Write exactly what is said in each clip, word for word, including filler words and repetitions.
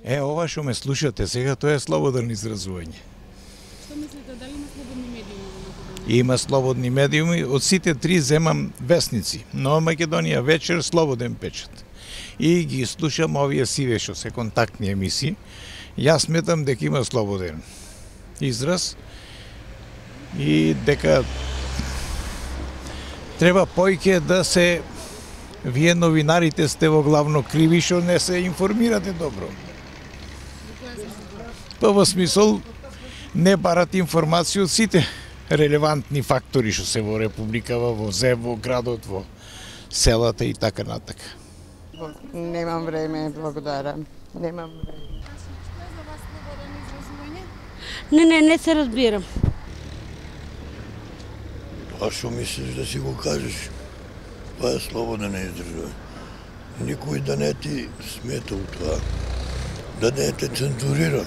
Е, ова што ме слушате сега, тоа е слободно изразување. Што мислите, дали има слободни медиуми во Македонија? Има слободни медиуми, од сите три земам весници. Нова Македонија вечер, слободен печат. И ги слушам овие сиве што се контактни емисии. Јас сметам дека има слободен израз и дека треба поиќе да се, вие новинарите сте во главно криви што не се информирате добро. Па во смисол не барат информација од сите релевантни фактори што се во републикава, во земја, во градот, во селата и така натака. Немам време, благодарам. Немам време. Не, не, не се разбирам. А што мислиш да си го кажеш? Тоа е слободно на изразување. Никој да не ти смета у тоа. Да не те цензурира.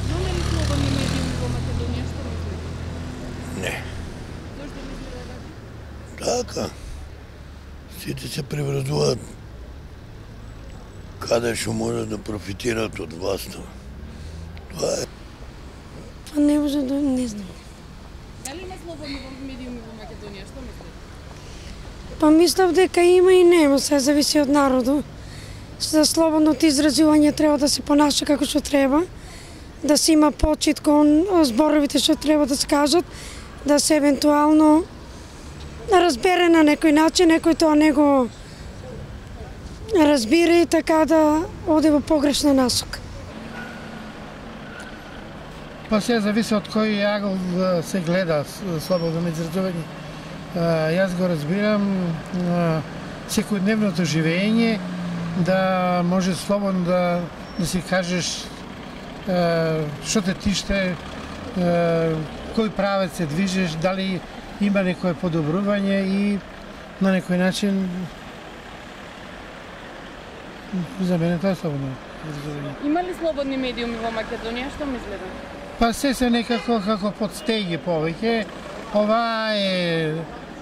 Имаме ли слободни медиуми во Македонија, што мислите? Не. Зошто мислите така? Така. Сите се преврзуваат каде што може да профитираат од власта. Тоа е. Па не може да, не знам. Дали има слободни медиуми во Македонија, што мислите? Па мислам дека има и нема, се зависи од народот. За слободното изразување треба да се понаша како што треба, да се има почит кон зборовите што треба да се кажат, да се евентуално разбере на некој начин, некој тоа не го разбира и така да оде во погрешна насока. Па се зависи од кој агол се гледа слободно изразување. Јас го разбирам секојдневното живење, да може слободно да, да си кажеш што те тиште, кој правец се движиш, дали има некое подобрување и на некој начин за мене тоа е слободно изразување. Има ли слободни медиуми во Македонија, што мислите? Па се се некако како подстеги повеќе. Ова е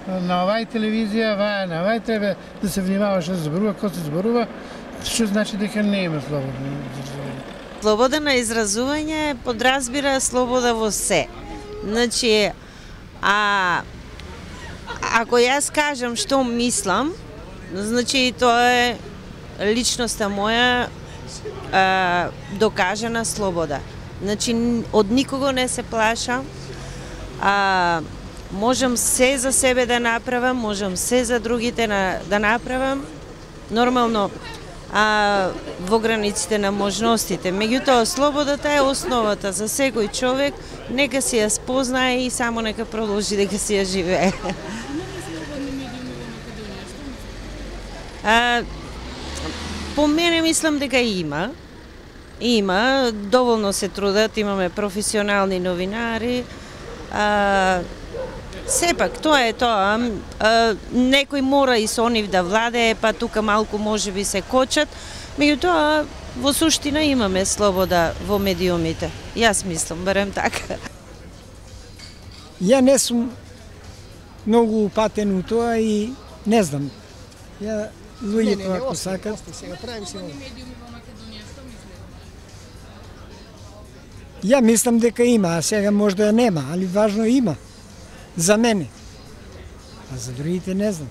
на овај телевизија, ова е на овај, треба да се внимава што се зборува, кој се зборува, што значи дека не има слободно изразување. Слобода на изразување подразбира слобода во се. Значи, а ако јас кажам што мислам, значи тоа е личноста моја а, докажана слобода. Значи, од никого не се плашам, а, можам се за себе да направам, можам се за другите на, да направам, нормално а, во границите на можностите. Меѓутоа, слободата е основата за секој човек, нека си ја спознае и само нека продолжи дека си ја живее. Има ли слободни медиуми во Македонија, што мислите? А, по мене мислам дека има. Има, доволно се трудат, имаме професионални новинари. А, сепак, тоа е тоа. А, некој мора и со нив да владее, па тука малку може би се кочат. Меѓутоа, во суштина имаме слобода во медиумите. Јас мислам, барем така. Ја не сум многу упатен у тоа и не знам. Ја луѓето ако сакат. Ја мислам дека има, а сега може да нема, али важно има. За мене. А за другите не знам.